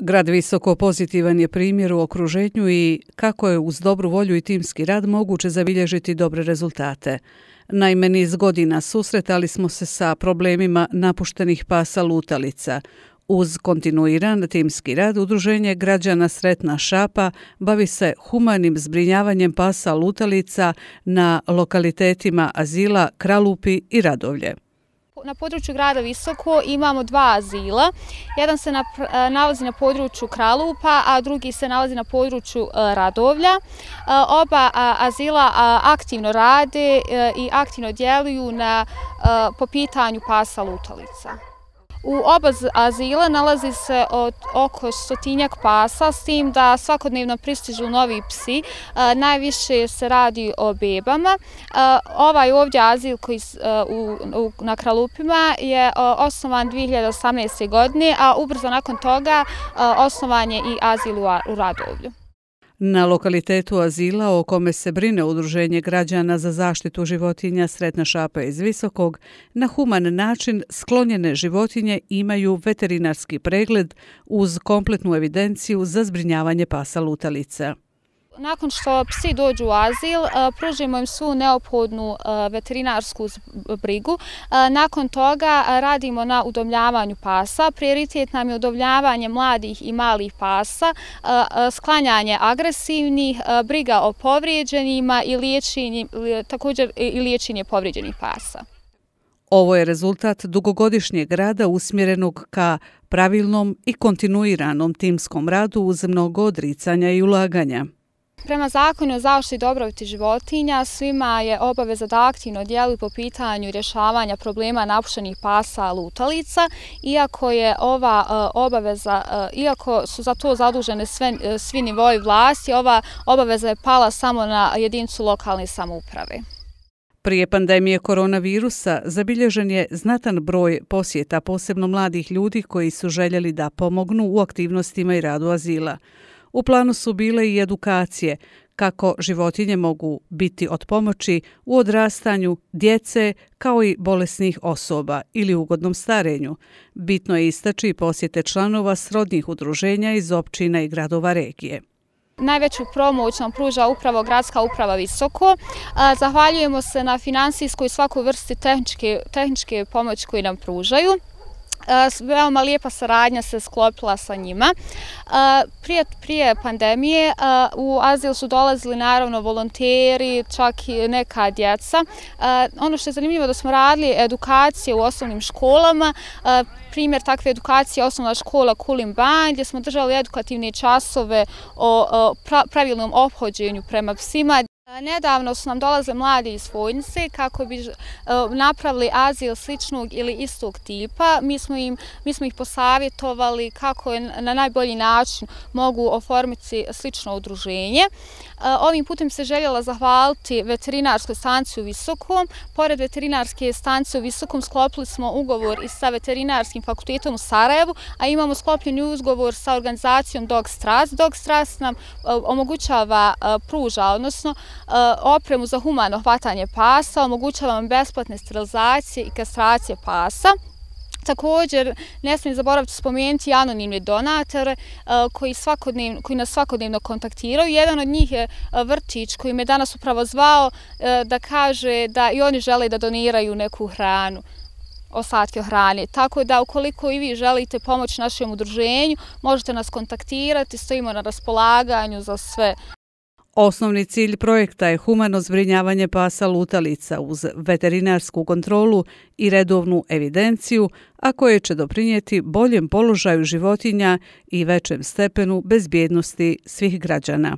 Grad Visoko pozitivan je primjer u okruženju i kako je uz dobru volju i timski rad moguće zabilježiti dobre rezultate. Naime, niz godina susretali smo se sa problemima napuštenih pasa lutalica. Uz kontinuiran timski rad, Udruženje građana Sretna Šapa bavi se humanim zbrinjavanjem pasa lutalica na lokalitetima azila Kralupi i Radovlje. Na području grada Visoko imamo dva azila. Jedan se nalazi na području Kralupa, a drugi se nalazi na području Radovlja. Oba azila aktivno rade i aktivno djeluju po pitanju pasa lutalica. U oba azila nalazi se oko 100-tinjak pasa, s tim da svakodnevno pristižu novi psi. Najviše se radi o bebama. Ovaj ovdje azil koji na Kralupima je osnovan 2018. godine, a ubrzo nakon toga osnovan je i azil u Radovlju. Na lokalitetu azila o kome se brine Udruženje građana za zaštitu životinja Sretna Šapa iz Visokog, na human način sklonjene životinje imaju veterinarski pregled uz kompletnu evidenciju za zbrinjavanje pasa lutalica. Nakon što psi dođu u azil, pružimo im svu neophodnu veterinarsku brigu. Nakon toga radimo na udomljavanju pasa. Prioritet nam je udomljavanje mladih i malih pasa, sklanjanje agresivnih, briga o povrijeđenima i također i liječenje povrijeđenih pasa. Ovo je rezultat dugogodišnjeg rada usmjerenog ka pravilnom i kontinuiranom timskom radu uz mnogo odricanja i ulaganja. Prema zakonu o zaštiti dobrobiti životinja svima je obaveza da aktivno djeluju po pitanju rješavanja problema napuštenih pasa lutalica. Iako su za to zadužene svi nivoi vlasti, ova obaveza je pala samo na jedinicu lokalne samouprave. Prije pandemije koronavirusa zabilježen je znatan broj posjeta, posebno mladih ljudi koji su željeli da pomognu u aktivnostima i radu azila. U planu su bile i edukacije kako životinje mogu biti od pomoći u odrastanju djece kao i bolesnih osoba ili ugodnom starenju. Bitno je istaći posjete članova srodnih udruženja iz općina i gradova regije. Najveću pomoć nam pruža upravo Gradska uprava Visoko. Zahvaljujemo se na finansijskoj i svakoj vrsti tehničke pomoći koju nam pružaju. Veoma lijepa saradnja se sklopila sa njima. Prije pandemije u azil su dolazili naravno volonteri, čak i neka djeca. Ono što je zanimljivo da smo radili edukacije u osnovnim školama. Primjer takve edukacije je osnovna škola Kulim Banj, gdje smo držali edukativne časove o pravilnom ophođenju prema psima. Nedavno su nam dolazili mladi iz Vojnice kako bi napravili azil sličnog ili istog tipa. Mi smo ih posavjetovali kako na najbolji način mogu oformiti slično udruženje. Ovim putem se željela zahvaliti veterinarskoj stanici u Visokom. Pored veterinarske stanice u Visokom sklopili smo ugovor i sa veterinarskim fakultetom u Sarajevu, a imamo sklopljeni ugovor sa organizacijom Dog Stras. Dog Stras nam pruža, odnosno opremu za humano hvatanje pasa, omogućava nam besplatne sterilizacije i kastracije pasa. Također, ne smijem zaboraviti spomenuti anonimne donatore koji nas svakodnevno kontaktiraju. Jedan od njih je vrtić koji me danas upravo zvao da kaže da i oni žele da doniraju neku hranu, ostatke hrane. Tako da ukoliko i vi želite pomoć našem udruženju, možete nas kontaktirati, stojimo na raspolaganju za sve. Osnovni cilj projekta je humano zbrinjavanje pasa lutalica uz veterinarsku kontrolu i redovnu evidenciju, a koje će doprinijeti boljem položaju životinja i većem stepenu bezbjednosti svih građana.